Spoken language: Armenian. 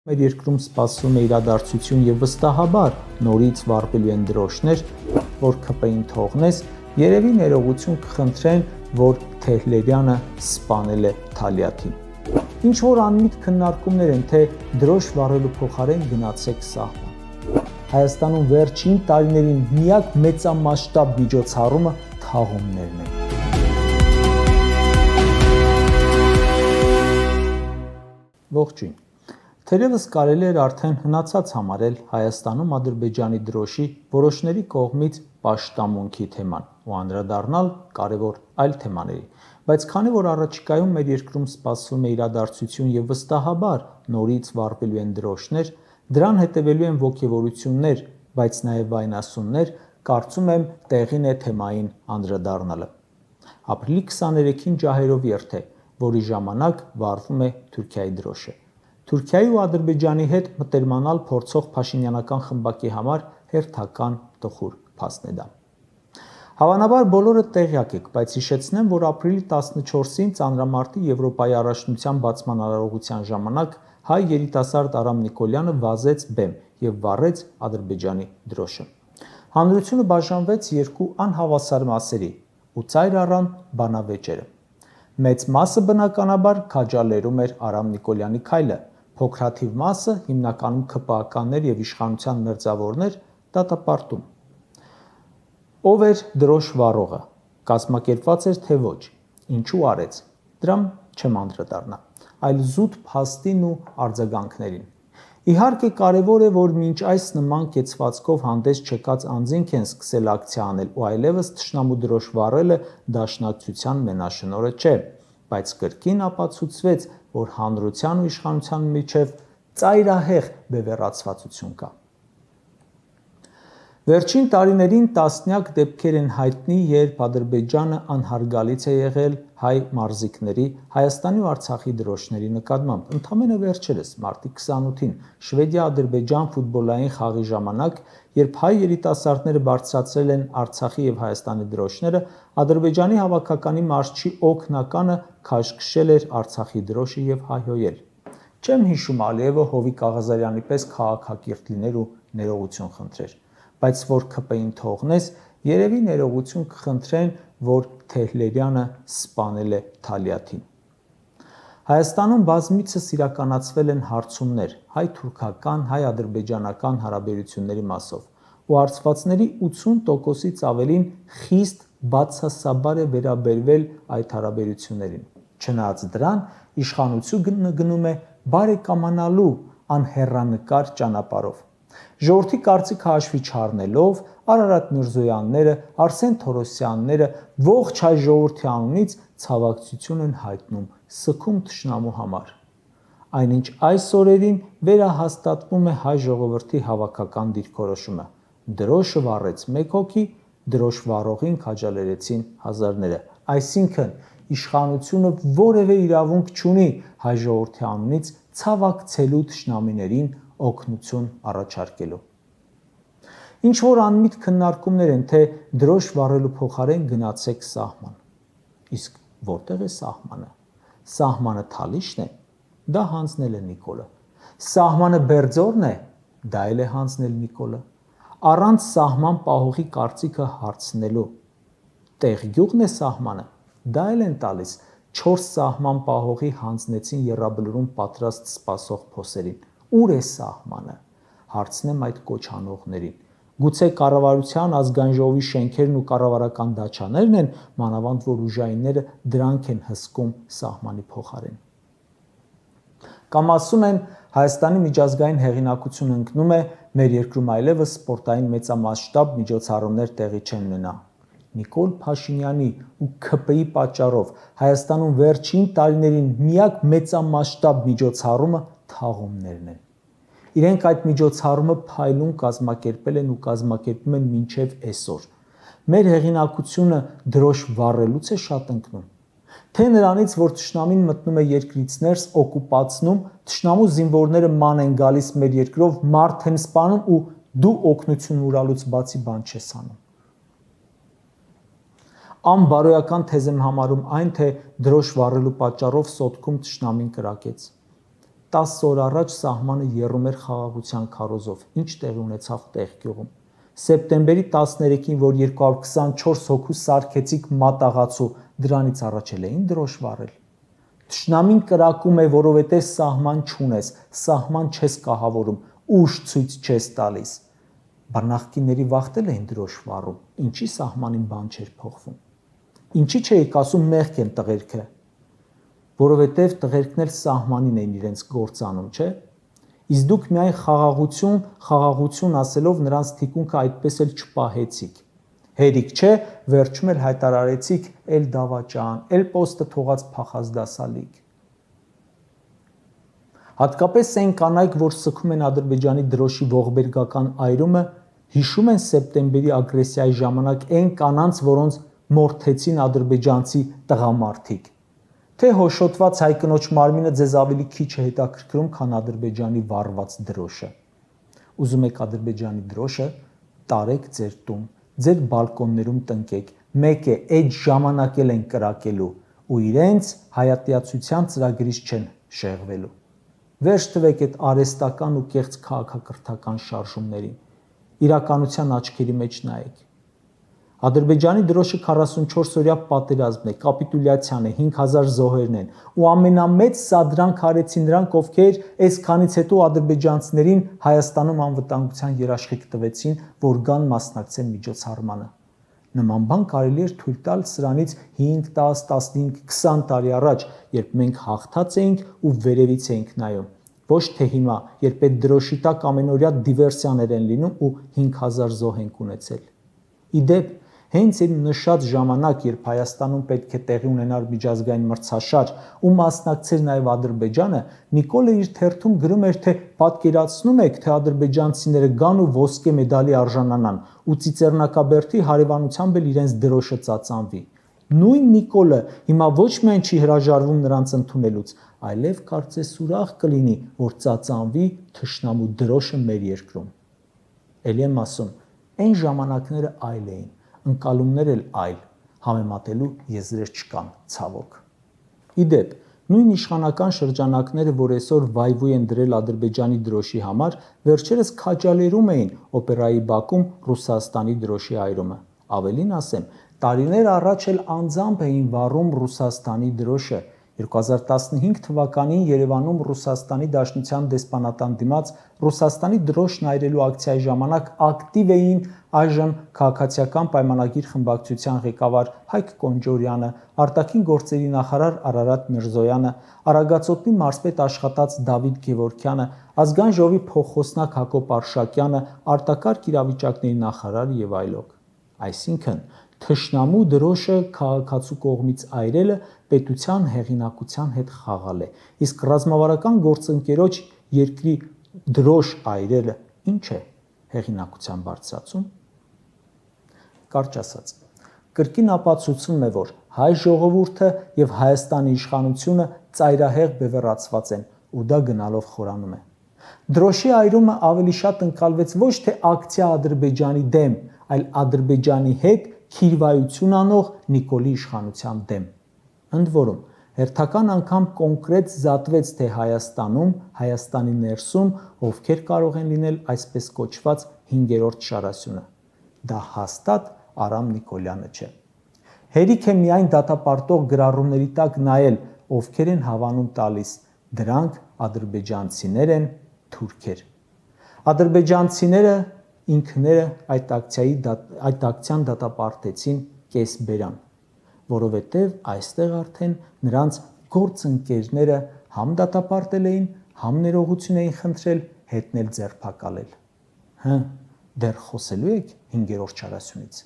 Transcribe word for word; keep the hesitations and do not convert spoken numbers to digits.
Մեր երկրում սպասվում է իրադարձություն եւ վստահաբար նորից վարվելու են դրոշներ, որ ՔՊ ին թողնես, երևի ներողություն կխնդրեն, որ Թեհլերյանը սպանել է Թալյաթին։ Ինչ որ անմիտ քննարկումներ են, թե դրոշ վառելու փոխարեն գնացեք սահման։ Հայաստանում վերջին տարիներին միակ մեծամասշտաբ միջոցառումը թաղումներն են։ Ողջույն։ Թերևս կարելի էր արդեն հնացած համարել Հայաստանում Ադրբեջանի դրոշի որոշների կողմից պաշտամունքի թեման ու անդրադառնալ կարևոր այլ թեմաների, բայց քանի որ առաջիկայում մեր երկրում սպասվում է իրադարձություն եւ վստահաբար նորից վառվելու են դրոշներ, դրան հետևելու են ոգևորություններ, բայց նաեւ վայնասուններ, կարծում եմ տեղին է թեմային անդրադառնալը։ Ապրիլի քսաներեքին ջահերով երթ է, որի ժամանակ վառվում է Թուրքիայի դրոշը։ Թուրքիայի ու Ադրբեջանի հետ մտերմանալ փորձող փաշինյանական խմբակի համար հերթական տխուր փաստ է դա։ Հավանաբար բոլորը տեղյակ եք, բայց հիշեցնեմ, որ ապրիլի տասնչորսին ծանրամարտի Եվրոպայի առաջնության բացման արարողության ժամանակ հայ երիտասարդ Արամ Նիկոլյանը վազեց բեմ եւ վառեց Ադրբեջանի դրոշը։ Հանրությունը բաժանվեց երկու անհավասար մասերի ու ծայր առան բանավեճերը։ Մեծ մասը բնականաբար քաջալերում էր Արամ Նիկոլյանի քայլը, փոքրաթիվ մասը, հիմնականում ՔՊԱ-ականներ եւ իշխանության մերձավորներ, դատապարտում։ Ով էր դրոշ վառողը, կազմակերպված էր թե ոչ, ինչու արեց, դրամ չեմ անդրադառնա, այլ զուտ փաստին ու արձագանքներին։ Իհարկե կարևոր է, որ մինչ այս նման կեցվածքով հանդես չեկած անձինք են սկսել ակցիա անել ու այլևս թշնամու դրոշ վառելը դաշնակցության մենաշնորհը չէ, բայց կրկին ապացուցվեց, որ հանրության ու իշխանության միջև ծայրահեղ բևեռացվածություն կա։ Վերջին տարիներին տասնյակ դեպքեր են հայտնի, երբ Ադրբեջանը անհարգալից է եղել հայ մարզիկների, Հայաստանի ու Արցախի դրոշների նկատմամբ։ Ընդամենը վերջերս մարտի քսանութին Շվեդիա-Ադրբեջան ֆուտբոլային խաղի ժամանակ, երբ հայ երիտասարդները բարձրացրել են Արցախի եւ Հայաստանի դրոշները, Ադրբեջանի հավաքականի մարզչի օգնականը քաշքշել էր Արցախի դրոշը եւ հայհոյել։ Չեմ հիշում Ալիևը Հովիկ Աղազարյանի պես քաղաքակիրթ լիներ ու ներողություն խնդրեր, բայց որ ՔՊ ին թողնես, երևի ներողություն կխնդրեն, որ Թեհլերյանը սպանել է Թալյաթին։ Հայաստանում բազմիցս իրականացվել են հարցումներ հայ-թուրքական, հայ-ադրբեջանական հարաբերությունների մասով, ու հարցվածների ութսուն տոկոսից ավելին խիստ բացասաբար է վերաբերվել այդ հարաբերություններին։ Չնայած դրան, իշխանությունը գնում է բարեկամանալու անհեռանկար ճանապարհով։ Ժողովրդի կարծիքը հաշվի չառնելով, Արարատ Միրզոյանները, Արսեն Թորոսյանները ողջ հայ ժողովրդի անունից ցավակցություն են հայտնում սգում թշնամու համար։ Այնինչ այս օրերին վերահաստատվում է հայ ժողովրդի հավաքական դիրքորոշումը։ Դրոշը վառեց մեկ հոգի, դրոշ վառողին քաջալերեցին հազարները։ Այսինքն իշխանությունը որևէ իրավունք չունի հայ ժողովրդի անունից ցավակցելու թշնամիներին օգնություն առաջարկելու։ Ինչ որ անմիտ քննարկումներ են, թե դրոշ վառելու փոխարեն գնացեք սահման։ Իսկ որտեղ է սահմանը։ Սահմանը Թալիշն է, դա հանձնել է Նիկոլը։ Սահմանը Բերձորն է, դա էլ է հանձնել Նիկոլը։ Առանց սահման պահողի կարծիքը հարցնելու։ Տեղգյուղն է սահմանը, դա էլ են տալիս։ Չորս սահման պահողի հանձնեցին Եռաբլուրում պատրաստ սպասող փոսերին։ Ուր է սահմանը։ Հարցնեմ այդ կոչ անողներին։ Գուցե կառավարության ազգային ժողովի շենքերն ու կառավարական դաչաներն են, մանավանդ որ ուժայինները դրանք են հսկում սահմանի փոխարեն։ Կամ ասում են Հայաստանի միջազգային հեղինակությունը ընկնում է, մեր երկրում այլևս սպորտային մեծամասշտաբ միջոցառումներ տեղի չեն ունենա։ Նիկոլ Փաշինյանի ու ՔՊ-ի պատճառով Հայաստանում վերջին տարիներին միակ մեծամասշտաբ միջոցառումը թաղումներն են։ Իրենք այդ միջոցառումը փայլուն կազմակերպել են ու կազմակերպում են մինչև այսօր։ Մեր հեղինակությունը դրոշ վառելուց է շատ ընկնում։ Թե նրանից, որ թշնամին մտնում է երկրից ներս, օկուպացնում, թշնամու զինվորները ման են գալիս մեր երկրով, մարդ են սպանում ու դու օգնություն ուրալուց բացի բան չես անում։ Անբարոյական թեզ եմ համարում այն, թե դրոշ վառելու պատճառով Սոտքում թշնամին կրակեց։ տասը օր առաջ սահմանը եռում էր խաղաղության քարոզով, ինչ տեղի ունեցավ Տեղգյուղում։ Սեպտեմբերի տասներեքին, որ երկու հարյուր քսանչորս հոգու սարքեցիք մատաղացու, դրանից առաջ էլ էին դրոշ վառել։ Թշնամին կրակում է, որովհետև սահման չունես, սահման չես կահավորում, ուժ ցույց չես տալիս։ Բա նախկինների վախտել էին դրոշ վառում, ինչի սահմանին բան չէր փոխվում։ Ինչի չէիք ասում մեղք են տղերքը, որովհետև տղերքն էլ սահմանին էին իրենց գործանում, չէ՞։ Իսկ դուք միայն խաղաղություն, խաղաղություն ասելով նրանց թիկունքը այդպես էլ չպահեցիք։ Հերիք չէ, վերջում էլ հայտարարեցիք էլ դավաճան, էլ պոստը թողած փախազդասալիկ։ Հատկապես այն կանայք, որ սգում են Ադրբեջանի դրոշի ողբերգական այրումը, հիշում են սեպտեմբերի ագրեսիայի ժամանակ այն կանանց, որոնց մորթեցին ադրբեջանցի տղամարդիկ։ Թե հոշոտված հայկնոջ մարմինը ձեզ ավելի քիչ է հետաքրքրում, քան Ադրբեջանի վառված դրոշը։ Ուզում եք Ադրբեջանի դրոշը, տարեք ձեր տուն, ձեր բալկոններում տնկեք, մեկ է այդ ժամանակ էլ են կրակելու ու իրենց հայատյացության ծրագրից չեն շեղվելու։ Վերջ տվեք այդ արհեստական ու կեղծ քաղաքակրթական շարժումներին, իրականության աչքերի մեջ նայեք։ Ադրբեջանի դրոշը քառասունչորս օրյա պատերազմն է, կապիտուլյացիան է, հինգ հազար զոհերն են ու ամենամեծ սադրանք արեցին նրանք, ովքեր այսքանից հետո ադրբեջանցիներին Հայաստանում անվտանգության երաշխիք տվեցին, որ գան մասնակցեն միջոցառմանը։ Նման բան կարելի էր թույլ տալ սրանից հինգ, տասը, տասնհինգ, քսան տարի առաջ, երբ մենք հաղթած էինք ու վերևից էինք նայում, ոչ թե հիմա, երբ այդ դրոշի տակ ամենօրյա դիվերսիաներ են լինում ու հինգ հազար զոհ ենք ունեցել։ Իդեպ, հենց այն նշած ժամանակ, երբ Հայաստանում պետք է տեղի ունենար միջազգային մրցաշար ու մասնակցեր նաև Ադրբեջանը, Նիկոլը իր թերթում գրում էր, թե պատկերացնում եք, թե ադրբեջանցիները գան ու ոսկե մեդալի արժանանան ու Ծիծեռնակաբերդի հարևանությամբ էլ իրենց դրոշը ծածանվի։ Նույն Նիկոլը հիմա ոչ միայն չի հրաժարվում նրանց ընդունելուց, այլև կարծես ուրախ կլինի, որ ծածանվի թշնամու դրոշը մեր երկրում։ Էլի եմ ասում, այն ժամանակները այլ էին, ընկալումներ էլ այլ, համեմատելու եզրեր չկան, ցավոք։ Իդեպ, նույն իշխանական շրջանակները, որ այսօր վայվույ են դրել Ադրբեջանի դրոշի համար, վերջերս քաջալերում էին օպերայի բակում Ռուսաստանի դրոշի այրումը։ Ավելին ասեմ, տարիներ առաջ էլ անձամբ էին վառում Ռուսաստանի դրոշը։ երկու հազար տասնհինգ թվականին Երևանում Ռուսաստանի Դաշնության դեսպանատան դիմաց Ռուսաստանի դրոշն այրելու ակցիայի ժամանակ ակտիվ էին այժմ քաղաքացիական պայմանագիր խմբակցության ղեկավար Հայկ Կոնջորյանը, արտաքին գործերի նախարար Արարատ Միրզոյանը, Արագածոտնի մարզպետ աշխատած Դավիթ Գևորգյանը, ազգային ժողովի փոխխոսնակ Հակոբ Արշակյանը, արտակարգ իրավիճակների նախարարը եւ այլոք։ Այսինքն թշնամու դրոշը քաղաքացու կողմից այրելը պետության հեղինակության հետ խաղալ է, իսկ ռազմավարական գործընկերոջ երկրի դրոշ այրելը ինչ է, հեղինակության բարձրացում։ Կարճ ասած, կրկին ապացուցվում է, որ հայ ժողովուրդը եւ Հայաստանի իշխանությունը ծայրահեղ բևեռացված են ու դա գնալով խորանում է։ Դրոշի այրումը ավելի շատ ընկալվեց ոչ թե ակցիա Ադրբեջանի դեմ, այլ Ադրբեջանի հետ քիրվայություն անող Նիկոլի իշխանության դեմ։ Ընդ որում, հերթական անգամ կոնկրետ զատվեց, թե Հայաստանում, Հայաստանի ներսում ովքեր կարող են լինել այսպես կոչված հինգերորդ շարասյունը։ Դա հաստատ Արամ Նիկոլյանը չէ։ Հերիք է միայն դատապարտող գրառումների տակ նայել, ովքեր են հավանում տալիս, դրանք ադրբեջանցիներ են, թուրքեր։ Ադրբեջանցիները ինքները այդ ակցիայի այդ ակցիան դատապարտեցին կեսբերան, որովհետև այստեղ արդեն նրանց գործընկերները համ դատապարտել էին, համ ներողություն էին խնդրել, հետն էլ ձերբակալել։ Հը, դեռ խոսելու եք հինգերորդ շարասյունից։